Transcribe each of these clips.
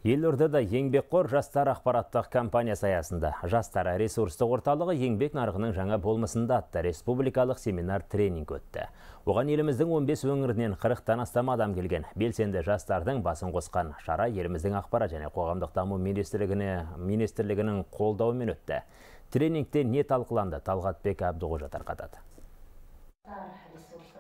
Елордада еңбекқор жастар ақпараттық компаниясы аясында жастар ресурстық орталығы еңбек нарығының жаңа болмысында атты республикалық семинар тренинг өтті. Оған еліміздің 15 өңірінен 40-тан астам адам келген. Белсенді жастардың басын қосқан шара еліміздің ақпарат және қоғамдық даму министрлігінің қолдауымен өтті. Тренингте не талқыланды? Талғатбек Әбдіғожа тарқатады.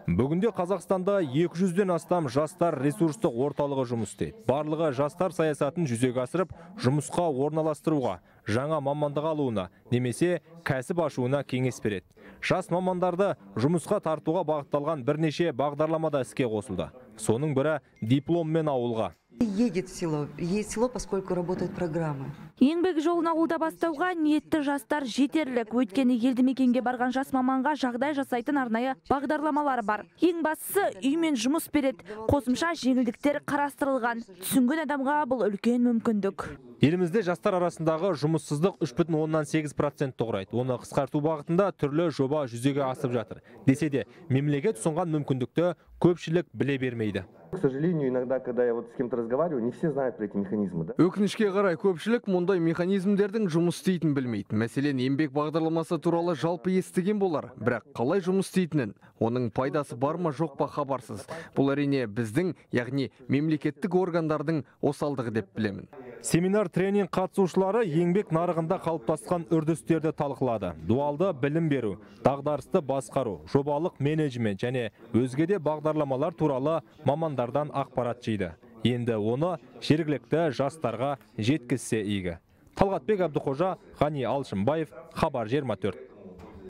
Бүгінде Қазақстанда 200-ден астам жастар ресурстық орталығы жұмыс істейді. Барлығы жастар саясатын жүзеге асырып, жұмысқа орналастыруға, жаңа мамандық алуына, немесе кәсіп ашуына кеңес береді. Жас мамандарды жұмысқа тартуға бағытталған бірнеше бағдарламада іске қосылды. Соның бірі дипломмен ауылға. Едет в село, поскольку работают программы. Еңбек жолын ауылда бастауға ниетті жастар жетерлік. Өйткені елді мекенге барған жас маманға жағдай жасайтын арнайы бағдарламалар бар. Ең бастысы үймен жұмыс береді. Қосымша жеңілдіктер қарастырылған. Түсінген адамға бұл үлкен мүмкіндік. Елімізде жастар арасындағы жұмыссыздық 3,8%-ті құрайды. Оны қысқарту бағытында түрлі жоба жүзеге асып жатыр. Десе де, мемлекет ұсынған мүмкіндікті көпшілік біле бермейді. К сожалению, иногда, когда я с кем-то разговариваю, не все знают про эти механизмы. Өкінішке қарай көпшілік мұндай механизмдердің жұмыс істейтін білмейді. Мәселен, еңбек бағдарламасы туралы жалпы естіген болар, бірақ қалай жұмыс істейтінін, оның пайдасы бар ма жоқ па хабарсыз. Бұл әрине біздің, яғни мемлекеттік органдардың осалдығы деп білемін. Семинар тренинг қатысушылары еңбек нарығында қалыптасқан үрдістерді талқылады. Дуалды білім беру, дағдарысты басқару, жобалық менеджмент және өзге де бағдарламалар туралы мамандардан ақпарат жиды. Енді оны жергілікті жастарға жеткізсе игі. Талғатбек Әбдіғожа, Ғани Алшынбаев, Хабар 24.